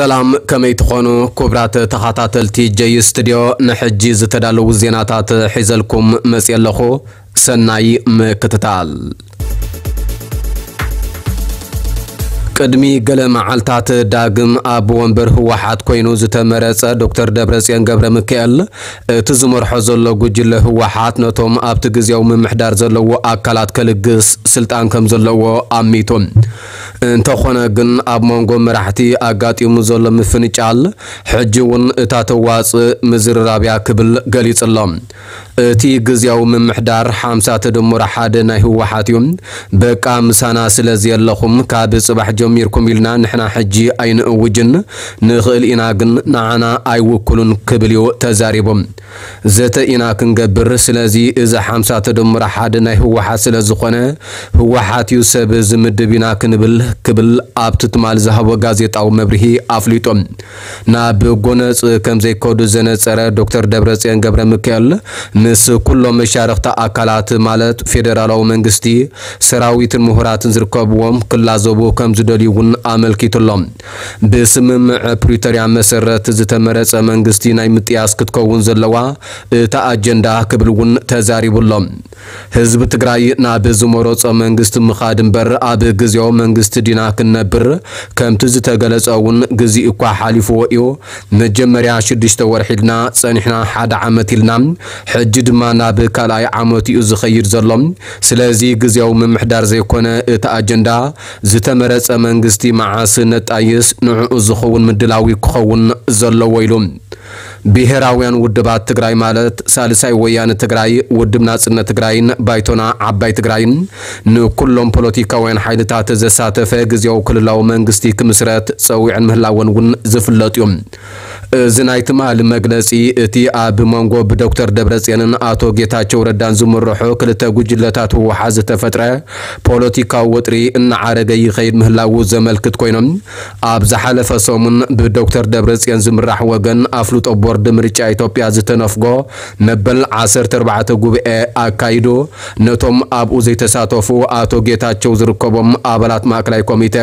ሰላም፣ ከመይ ትኾኑ ክቡራት ተኸታተልቲ ጀይ ስቱድዮ? ንሕጂ ዝተዳለዉ ዜናታት ሒዘልኩም መፅየ ኣለኹ። ሰናይ ምክትታል። ቅድሚ ገለ መዓልታት ዳግም ኣብ ወንበር ህወሓት ኮይኑ ዝተመረጸ ዶክተር ደብረጽዮን ገብረ ሚካኤል፣ እቲ ዝመርሖ ዘሎ ጉጅለ ህወሓት ነቶም ኣብቲ ግዜያዊ ምምሕዳር ዘለዉ ኣካላት ከልግስ ስልጣን ከም ዘለዎ ኣሚቱ። እንተኾነ ግን፣ ኣብ መንጎ መራሕቲ ኣጋጢሙ ዘሎ ምፍንጫል፣ ሕጂ እውን እታ ተዋጽእ ምዝርራብ እያ ክብል ገሊጹ ኣሎ። እቲ ግዝያዊ ምምሕዳር ሓምሳ ተደምሮ ሓደ ናይ ህወሓት እዩ። በቃ ምሳና ስለ ዘየለኹም፣ ካብ ጽባሕ ጀሚርኩም ኢልና ንሕና ሕጂ ኣይንእውጅን፣ ንኽእል ኢና ግን ንዓና ኣይውክሉን ክብል እዩ ተዛሪቡ። ዘተ ኢና ክንገብር፣ ስለዚ እዚ ሓምሳ ተደምሮ ሓደ ናይ ህወሓት ስለ ዝኾነ፣ ህወሓት እዩ ሰብ ዝምድብ ኢና ክንብል ክብል ኣብቲ ትማል ዝሃቦ ጋዜጣዊ መብርሂ ኣፍሊጡ። ናብ ጎነጽ ከም ዘይከዱ ዘነጸረ ዶክተር ደብረጽዮን ገብረ ሚካኤል፣ ምስ ኩሎም መሻርኽቲ ኣካላት ማለት ፌደራላዊ መንግስቲ፣ ሰራዊትን ምሁራትን ዝርከብዎም ክላዘቡ ከም ዝደልዩ እውን ኣመልኪቱ ኣሎ። ብስምምዕ ፕሪቶርያ መሰረት ዝተመረጸ መንግስቲ ናይ ምጥያስ ክትከውን ዘለዋ እታ ኣጀንዳ ክብል እውን ተዛሪቡ ኣሎ። ህዝቢ ትግራይ ናብ ዝመረጾ መንግስቲ ምኻድ እምበር ኣብ ግዜያዊ መንግስቲ ዲና ክንነብር? ከምቲ ዝተገለጸ እውን ግዜ እኳ ሓሊፍዎ እዩ። መጀመርያ ሽዱሽተ ወርሒ ኢልና ጸኒሕና፣ ሓደ ዓመት ኢልና፣ ሕጂ ድማ ናብ ካልኣይ ዓመት እዩ ዝኸይድ ዘሎ። ስለዚ ግዜያዊ ምምሕዳር ዘይኮነ እቲ ኣጀንዳ፣ ዝተመረጸ መንግስቲ መዓስ ነጣይስ፣ ንዕኡ ዝኸውን ምድላዊ ክኸውን ዘለዎ ኢሉ። ብሄራውያን ውድባት ትግራይ ማለት ሳልሳይ ወያነ ትግራይ፣ ውድብ ናጽነት ትግራይን ባይቶና ዓባይ ትግራይን ንኩሎም ፖለቲካውያን ሓይልታት ዘሳተፈ ግዜያዊ ክልላዊ መንግስቲ ክምስረት ጸዊዐን ምህላወን እውን ዝፍለጥ እዩ። እዚ ናይ ትማሊ መግለጺ፣ እቲ ኣብ መንጎ ብዶክተር ደብረጽዮንን ኣቶ ጌታቸው ረዳን ዝምርሑ ክልተ ጉጅለታት ህወሓት ዝተፈጥረ ፖለቲካዊ ወጥሪ እናዓረገ ይኸይድ ምህላዉ ዘመልክት ኮይኖም፣ ኣብ ዝሓለፈ ሰሙን ብዶክተር ደብረጽዮን ዝምራሕ ወገን ኣፍልጦ ቦርድ ምርጫ ኢትዮጵያ ዝተነፍጎ መበል ዓሰርተ ኣርባዕተ ጉባኤ ኣካይዱ፣ ነቶም ኣብኡ ዘይተሳተፉ ኣቶ ጌታቸው ዝርከቦም ኣባላት ማእከላይ ኮሚቴ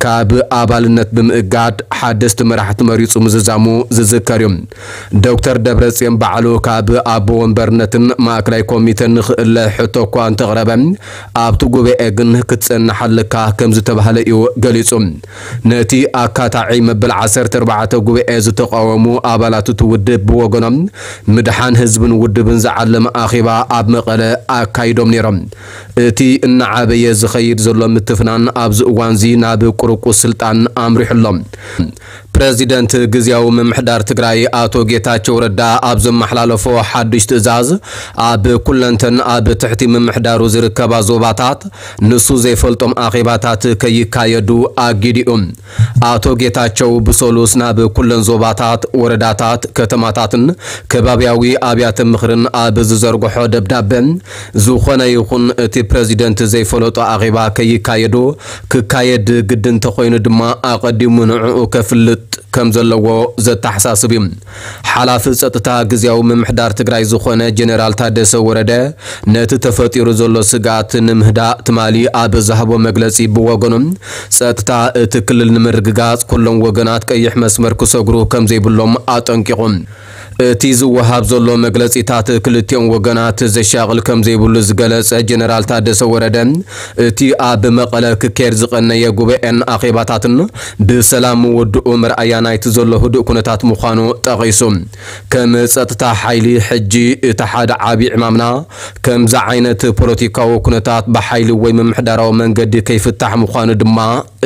ካብ ኣባልነት ብምእጋድ ሓደስቲ መራሕቲ መሪጹ ምዝዛሙ ዝዝከር እዩ። ዶክተር ደብረጽዮን ባዕሉ ካብ ኣቦ ወንበርነትን ማእከላይ ኮሚቴን ንኽእለ ሕቶ እኳ እንተቕረበ፣ ኣብቲ ጉባኤ ግን ክትጸንሕ ኣለካ ከም ዝተባህለ እዩ ገሊጹ። ነቲ ኣካታዒ መበል ዓሰርተ ኣርባዕተ ጉባኤ ዝተቃወሙ ኣባላት እቲ ውድብ ብወገኖም፣ ምድሓን ህዝብን ውድብን ዝዓለመ ኣኼባ ኣብ መቐለ ኣካይዶም ነይሮም። እቲ እናዓበየ ዝኸይድ ዘሎ ምትፍናን ኣብዚ እዋንዚ ናብ ቁርቁስ ስልጣን ኣምሪሑ ኣሎ። ፕረዚደንት ግዝያዊ ምምሕዳር ትግራይ ኣቶ ጌታቸው ረዳ ኣብ ዘመሓላለፎ ሓድሽ ትእዛዝ፣ ኣብ ኩለንተን ኣብ ትሕቲ ምምሕዳሩ ዝርከባ ዞባታት ንሱ ዘይፈልጦም ኣኼባታት ከይካየዱ ኣጊዱ እዩ። ኣቶ ጌታቸው ብሰሉስ ናብ ኩለን ዞባታት፣ ወረዳታት፣ ከተማታትን ከባብያዊ ኣብያተ ምኽርን ኣብ ዝዘርግሖ ደብዳበ፣ ዝኾነ ይኹን እቲ ፕረዚደንት ዘይፈለጦ ኣኼባ ከይካየዱ፣ ክካየድ ግድን እንተኾይኑ ድማ ኣቐዲሙ ንዕኡ ከፍልጥ ከም ዘለዎ ዘተሓሳስብ እዩ። ሓላፊ ጸጥታ ግዝያዊ ምምሕዳር ትግራይ ዝኾነ ጀነራል ታደሰ ወረደ፣ ነቲ ተፈጢሩ ዘሎ ስግኣት ንምህዳእ ትማሊ ኣብ ዝሃቦ መግለጺ፣ ብወገኑ ጸጥታ እቲ ክልል ንምርግጋጽ ኩሎም ወገናት ቀይሕ መስመር ክሰግሩ ከም ዘይብሎም ኣጠንቂቑ። እቲ ዝወሃብ ዘሎ መግለጺታት ክልቲኦም ወገናት ዘሻቕል ከም ዘይብሉ ዝገለጸ ጀነራል ታደሰ ወረደ፣ እቲ ኣብ መቐለ ክካየድ ዝቐነየ ጉባኤን ኣኼባታትን ብሰላም ምውድኡ መርኣያ ናይቲ ዘሎ ህዱእ ኩነታት ምዃኑ ጠቒሱ። ከም ጸጥታ ሓይሊ፣ ሕጂ እቲ ሓደ ዓቢ ዕማምና፣ ከምዚ ዓይነት ፖለቲካዊ ኩነታት ብሓይሊ ወይ ምምሕዳራዊ መንገዲ ከይፍታሕ ምዃኑ ድማ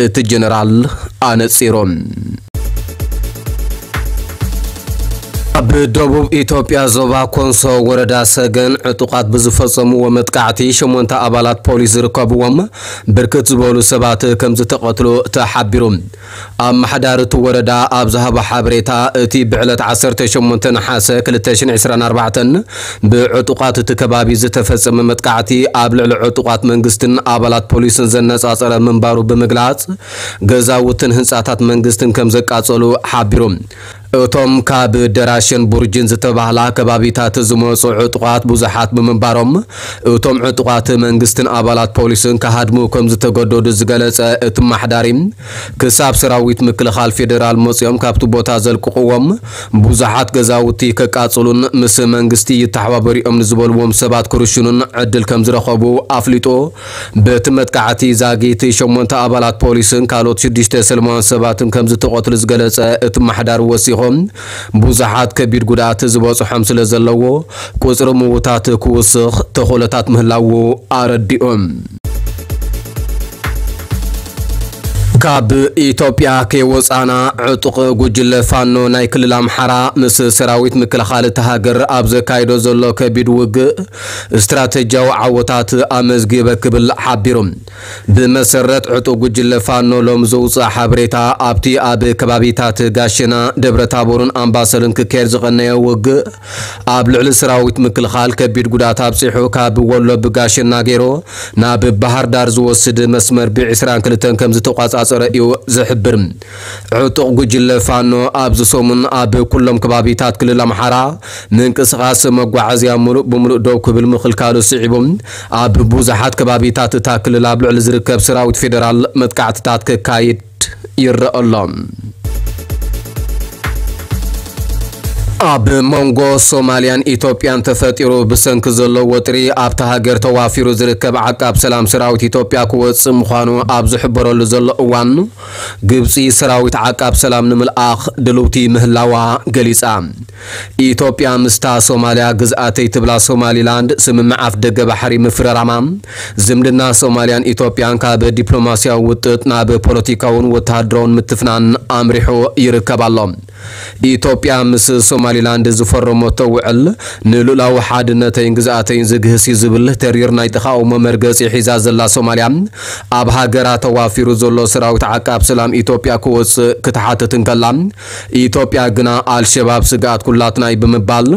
እቲ ጀነራል ኣነጺሩ። ኣብ ደቡብ ኢትዮጵያ ዞባ ኮንሶ ወረዳ ሰገን ዕጡቓት ብዝፈጸምዎ መጥቃዕቲ ሸሞንተ ኣባላት ፖሊስ ዝርከብዎም ብርክት ዝበሉ ሰባት ከም ዝተቐትሉ ተሓቢሩ። ኣመሓዳሪ እቲ ወረዳ ኣብ ዝሃቦ ሓበሬታ፣ እቲ ብዕለት ዓሰርተ ሸሞንተ ነሓሰ ክልተ ሽሕን ዕስራን ኣርባዕተን ብዕጡቓት እቲ ከባቢ ዝተፈጸመ መጥቃዕቲ ኣብ ልዕሊ ዕጡቓት መንግስትን ኣባላት ፖሊስን ዘነጻጸረ ምንባሩ ብምግላጽ፣ ገዛውትን ህንጻታት መንግስትን ከም ዘቃጸሉ ሓቢሩ። እቶም ካብ ደራሽን ቡርጅን ዝተባህላ ከባቢታት ዝመጹ ዕጡቓት ብዙሓት ብምንባሮም፣ እቶም ዕጡቓት መንግስትን ኣባላት ፖሊስን ክሃድሙ ከም ዝተገደዱ ዝገለጸ እቲ ኣመሓዳሪ፣ ክሳብ ሰራዊት ምክልኻል ፌደራል መጺኦም ካብቲ ቦታ ዘልቅቕዎም፣ ብዙሓት ገዛውቲ ከቃጽሉን ምስ መንግስቲ ይተሓባበሩ እዮም ንዝበልዎም ሰባት ክርሽኑን ዕድል ከም ዝረኸቡ ኣፍሊጡ። በቲ መጥቃዕቲ ዛጊት ሸሞንተ ኣባላት ፖሊስን ካልኦት ሽዱሽተ ሰላማውያን ሰባትን ከም ዝተቐትሉ ዝገለጸ እቲ ኣመሓዳሪ ወሲኹ፣ ብዙሓት ከቢድ ጉድኣት ዝበጽሖም ስለ ዘለዎ፣ ቁጽሪ ምዉታት ክውስኽ ተኽእሎታት ምህላዉ ኣረዲኡ። ካብ ኢትዮጵያ ከይወጻና፣ ዕጡቕ ጉጅለ ፋኖ ናይ ክልል ኣምሓራ ምስ ሰራዊት ምክልኻል እታ ሃገር ኣብ ዘካይዶ ዘሎ ከቢድ ውግእ ስትራተጂያዊ ዓወታት ኣመዝጊበ ክብል ሓቢሩ። ብመሰረት ዕጡቕ ጉጅለ ፋኖ ሎም ዘውፅኣ ሓበሬታ፣ ኣብቲ ኣብ ከባቢታት ጋሸና፣ ደብረ ታቦርን ኣምባሰልን ክካየድ ዝቐነየ ውግእ ኣብ ልዕሊ ሰራዊት ምክልኻል ከቢድ ጉድኣት ኣብፂሑ፣ ካብ ወሎ ብጋሸና ገይሩ ናብ ባህር ዳር ዝወስድ መስመር ብ ዕስራን ክልተን ከም ዝተቋጻጸረ እዩ ዝሕብር። ዕጡቕ ጉጅለ ፋኖ ኣብዚ ሰሙን ኣብ ኩሎም ከባቢታት ክልል ኣምሓራ ምንቅስቓስ መጓዓዝያ ምሉእ ብምሉእ ደው ክብል ምኽልካሉ ስዒቡ፣ ኣብ ብዙሓት ከባቢታት እታ ክልል ኣብ ልዕሊ ዝርከብ ሰራዊት ፌደራል መጥቃዕትታት ከካይድ ይረአ ኣሎ። ኣብ መንጎ ሶማልያን ኢትዮጵያን ተፈጢሩ ብሰንኪ ዘሎ ወጥሪ፣ ኣብታ ሃገር ተዋፊሩ ዝርከብ ዓቃብ ሰላም ሰራዊት ኢትዮጵያ ክወጽእ ምዃኑ ኣብ ዝሕበረሉ ዘሎ እዋን፣ ግብጺ ሰራዊት ዓቃብ ሰላም ንምልኣኽ ድልውቲ ምህላዋ ገሊጻ። ኢትዮጵያ ምስታ ሶማልያ ግዝኣተይ ትብላ ሶማሊላንድ ስምምዕ ኣፍደገ ባሕሪ ምፍርራማ፣ ዝምድና ሶማልያን ኢትዮጵያን ካብ ዲፕሎማስያዊ ውጥጥ ናብ ፖለቲካውን ወተሃደራውን ምትፍናን ኣምሪሑ ይርከብ ኣሎ። ኢትዮጵያ ምስ ሶማሊላንድ ዝፈረመቶ ውዕል፣ ንልኡላዊ ሓድነተይን ግዝኣተይን ዝግህስ እዩ ዝብል ተሪር ናይ ተቓውሞ መርገጺ ሒዛ ዘላ ሶማልያ፣ ኣብ ሃገራ ተዋፊሩ ዘሎ ሰራዊት ዓቃብ ሰላም ኢትዮጵያ ክወጽእ ክትሓትት እንከላ፣ ኢትዮጵያ ግና ኣልሸባብ ስግኣት ኩላትና እዩ ብምባል፣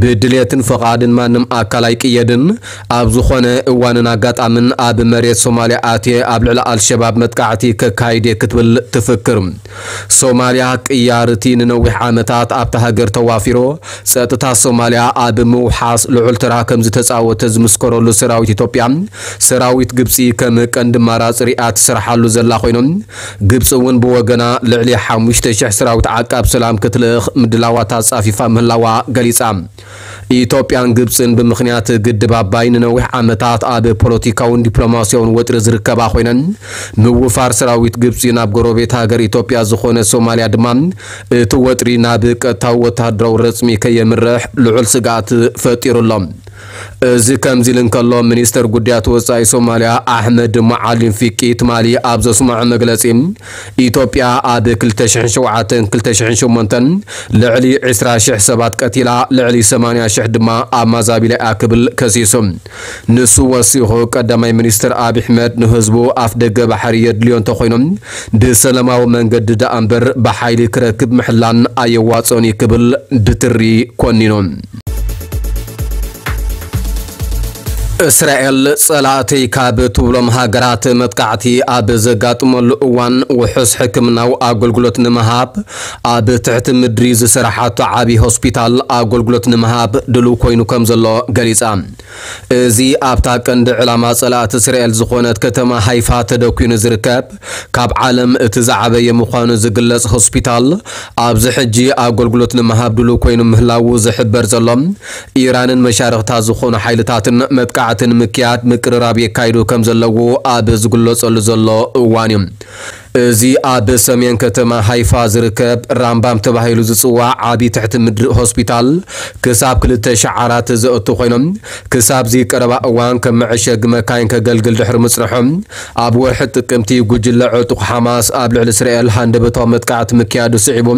ብድልየትን ፍቓድን ማንም ኣካል ኣይቅየድን፣ ኣብ ዝኾነ እዋንን ኣጋጣምን ኣብ መሬት ሶማልያ ኣትየ ኣብ ልዕሊ ኣልሸባብ መጥቃዕቲ ከካይድ እየ ክትብል ትፍክር። ሶማልያ ቅያርቲ ንነዊሕ ዓመታት ኣብታ ሃገር ተዋፊሩ፣ ጸጥታ ሶማልያ ኣብ ምውሓስ ልዑል ተራ ከም ዝተጻወተ ዝምስከረሉ ሰራዊት ኢትዮጵያ፣ ሰራዊት ግብጺ ከም ቀንዲ ኣማራጺ ሪኣ ትሰርሓሉ ዘላ ኮይኖም፣ ግብጺ እውን ብወገና ልዕሊ ሓሙሽተ ሽሕ ሰራዊት ዓቃብ ሰላም ክትልእኽ ምድላዋት ኣጻፊፋ ምህላዋ ገሊጻ። ኢትዮጵያን ግብጽን ብምኽንያት ግድብ ኣባይ ንነዊሕ ዓመታት ኣብ ፖለቲካውን ዲፕሎማስያውን ወጥሪ ዝርከባ ኮይነን፣ ምውፋር ሰራዊት ግብጺ ናብ ጎረቤት ሃገር ኢትዮጵያ ዝኾነ ሶማልያ ድማ እቲ ወጥሪ ናብ ቀጥታዊ ወተሃደራዊ ረጽሚ ከየምርሕ ልዑል ስግኣት ፈጢሩ ኣሎ። እዚ ከምዚ ኢሉ እንከሎ፣ ሚኒስተር ጉዳያት ወጻኢ ሶማልያ ኣሕመድ ሙዓሊም ፊቂ ትማሊ ኣብ ዘስምዖ መግለጺ፣ ኢትዮጵያ ኣብ ክልተ ሽሕን ሸውዓተን ክልተ ሽሕን ሸሞንተን ልዕሊ ዕስራ ሽሕ ሰባት ቀቲላ፣ ልዕሊ ሰማንያ ሽሕ ድማ ኣማዛቢላ እያ ክብል ከሲሱ። ንሱ ወሲኹ፣ ቀዳማይ ሚኒስትር ኣብይ ኣሕመድ ንህዝቡ ኣፍ ደገ ባሕሪ የድልዮ እንተኾይኑ፣ ብሰላማዊ መንገዲ ደኣ እምበር ብሓይሊ ክረክብ ምሕላን ኣየዋጽኦን እዩ ክብል ብትሪ ኮኒኑ። እስራኤል ጸላእተይ ካብ ትብሎም ሃገራት መጥቃዕቲ ኣብ ዘጋጥመሉ እዋን፣ ውሑስ ሕክምናዊ ኣገልግሎት ንምሃብ ኣብ ትሕቲ ምድሪ ዝሰራሓቶ ዓቢ ሆስፒታል ኣገልግሎት ንምሃብ ድሉው ኮይኑ ከም ዘሎ ገሊጻ። እዚ ኣብታ ቀንዲ ዕላማ ጸላእቲ እስራኤል ዝኾነት ከተማ ሃይፋ ተደኲኑ ዝርከብ፣ ካብ ዓለም እቲ ዝዓበየ ምዃኑ ዝግለጽ ሆስፒታል፣ ኣብዚ ሕጂ ኣገልግሎት ንምሃብ ድሉው ኮይኑ ምህላዉ ዝሕበር ዘሎ፣ ኢራንን መሻርኽታ ዝኾኑ ሓይልታትን መጥቃዕቲ ንምክያድ ምቅርራብ የካይዱ ከም ዘለዉ ኣብ ዝግለጸሉ ዘሎ እዋን እዩ። እዚ ኣብ ሰሜን ከተማ ሃይፋ ዝርከብ ራምባም ተባሂሉ ዝጽዋዕ ዓቢ ትሕቲ ምድሪ ሆስፒታል፣ ክሳብ ክልተ ሺሕ ዓራት ዘእቱ ኮይኖም፣ ክሳብ እዚ ቀረባ እዋን ከም መዐሸጊ መካይን ከገልግል ድሕሪ ምጽንሖም፣ ኣብ ወርሒ ጥቅምቲ ጉጅለ ዕጡቕ ሓማስ ኣብ ልዕሊ እስራኤል ሃንደበታዊ መጥቃዕቲ ምክያዱ ስዒቡ፣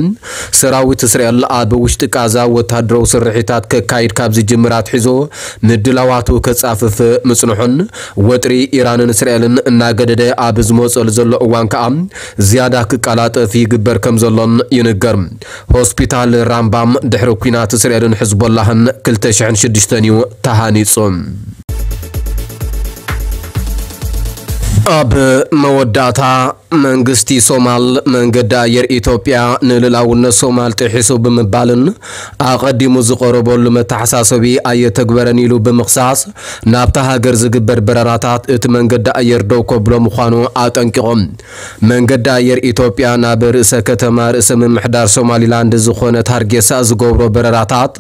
ሰራዊት እስራኤል ኣብ ውሽጢ ቃዛ ወተሃደራዊ ስርሒታት ከካይድ ካብ ዝጅምር ኣትሒዙ ምድላዋቱ ከጻፍፍ ምጽንሑን፣ ወጥሪ ኢራንን እስራኤልን እናገደደ ኣብ ዝመጸሉ ዘሎ እዋን ከኣ፣ ዝያዳ ክቀላጠፍ ይግበር ከም ዘሎን ይንገር። ሆስፒታል ራምባም ድሕሪ ኲናት እስራኤልን ሕዝቦላህን ክልተ ሽሕን ሽዱሽተን እዩ ተሃኒጹ። ኣብ መወዳእታ፣ መንግስቲ ሶማል መንገዲ ኣየር ኢትዮጵያ ንልኡላውነት ሶማል ጥሒሱ ብምባልን ኣቐዲሙ ዝቐረበሉ መተሓሳሰቢ ኣየተግበረን ኢሉ ብምኽሳስ፣ ናብታ ሃገር ዝግበር በረራታት እቲ መንገዲ ኣየር ደው ከብሎ ምዃኑ ኣጠንቂቖም። መንገዲ ኣየር ኢትዮጵያ ናብ ርእሰ ከተማ ርእሰ ምምሕዳር ሶማሊላንድ ዝኾነት ሃርጌሳ ዝገብሮ በረራታት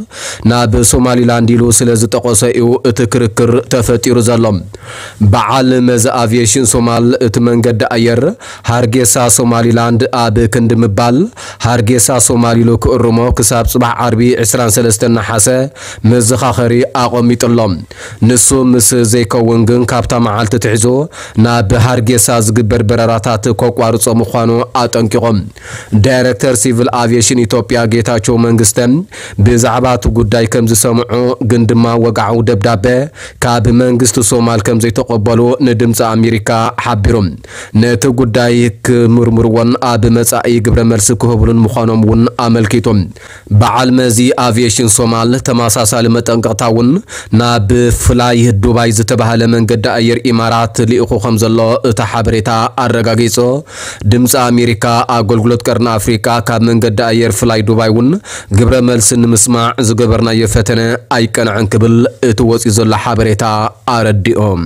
ናብ ሶማሊላንድ ኢሉ ስለ ዝጠቐሶ እዩ እቲ ክርክር ተፈጢሩ ዘሎ። በዓል መዚ ኣቪዬሽን ሶማል እቲ መንገዲ ኣየር ሃርጌሳ ሶማሊላንድ ኣብ ክንዲ ምባል፣ ሃርጌሳ ሶማል ኢሉ ክእርሞ ክሳብ ጽባሕ ዓርቢ ዕስራን ሰለስተን ነሓሰ መዘኻኸሪ ኣቐሚጡ ኣሎ። ንሱ ምስ ዘይከውን ግን ካብታ መዓልቲ ትሒዙ ናብ ሃርጌሳ ዝግበር በረራታት ከቋርጾ ምዃኑ ኣጠንቂቖም። ዳይሬክተር ሲቪል ኣቪዬሽን ኢትዮጵያ ጌታቸው መንግስተ ብዛዕባ እቲ ጉዳይ ከም ዝሰምዑ ግን ድማ ወግዓዊ ደብዳበ ካብ መንግስቲ ሶማል ከም ዘይተቐበሉ ንድምፂ ኣሜሪካ ሓቢሮም። ነቲ ጉዳይ ክምርምርዎን ኣብ መጻኢ ግብረ መልሲ ክህብሉን ምዃኖም እውን ኣመልኪቶም። በዓል መዚ ኣቪዬሽን ሶማል ተመሳሳሊ መጠንቀቕታ እውን ናብ ፍላይ ዱባይ ዝተባህለ መንገዲ ኣየር ኢማራት ልኢኹ ከም ዘሎ እቲ ሓበሬታ ኣረጋጊጹ። ድምፂ ኣሜሪካ ኣገልግሎት ቀርኒ ኣፍሪካ ካብ መንገዲ ኣየር ፍላይ ዱባይ እውን ግብረ መልሲ ንምስማዕ ዝገበርናዮ ፈተነ ኣይቀንዐን ክብል እቲ ወፂኡ ዘሎ ሓበሬታ ኣረዲኦም።